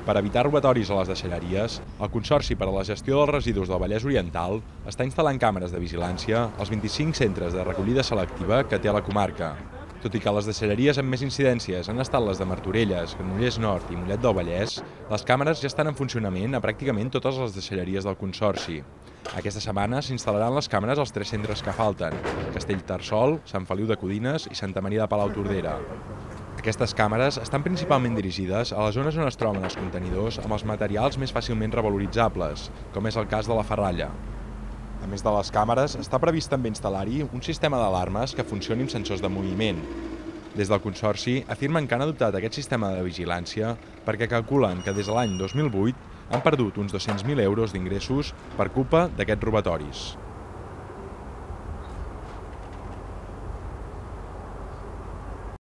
Per evitar robatoris a les deixalleries, el Consorci per a la Gestió dels Residus del Vallès Oriental està instal·lant càmeres de vigilància als 25 centres de recollida selectiva que té a la comarca. Tot i que les deixalleries amb més incidències han estat les de Martorelles, Granollers Nord i Mollet del Vallès, les càmeres ja estan en funcionament a pràcticament totes les deixalleries del Consorci. Aquesta setmana s'instal·laran les càmeres als 3 centres que falten: Castellterçol, Sant Feliu de Codines i Santa Maria de Palautordera. Aquestes càmeres estan principalment dirigides a les zones on es troben els contenidors amb els materials més fàcilment revaloritzables, com és el cas de la ferralla. A més de les càmeres, està previst també instal·lar-hi un sistema d'alarmes que funcioni amb sensors de moviment. Des del Consorci afirmen que han adoptat aquest sistema de vigilància perquè calculen que des de l'any 2008 han perdut uns 200.000 euros d'ingressos per culpa d'aquests robatoris.